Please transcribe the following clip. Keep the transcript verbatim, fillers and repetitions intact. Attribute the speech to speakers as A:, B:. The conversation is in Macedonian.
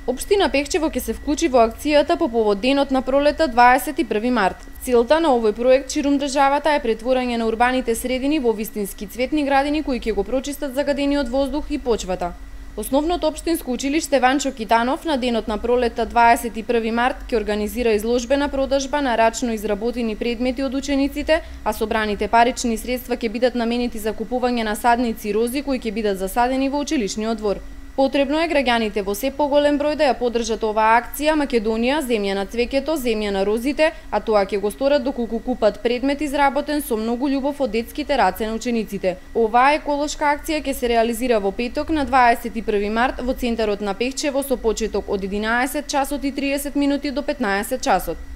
A: Општина Пехчево ќе се вклучи во акцијата по повод денот на пролета дваесет и први март. Целта на овој проект ширум државата е претворање на урбаните средини во вистински цветни градини кои ќе го прочистат загадениот воздух и почвата. Основното општинско училиште Ванчо Китанов на денот на пролета дваесет и први март ќе организира изложбена продажба на рачно изработени предмети од учениците, а собраните парични средства ќе бидат наменети за купување на садници и рози кои ќе бидат засадени во училишниот двор. Потребно е граѓаните во се поголем број да ја поддржат оваа акција Македонија, земја на цвеќето, земја на розите, а тоа ќе го сторат доколку купат предмет изработен со многу љубов од детските раце на учениците. Оваа еколошка акција ќе се реализира во петок на дваесет и први март во центарот на Пехчево со почеток од единаесет часот и триесет минути до петнаесет часот.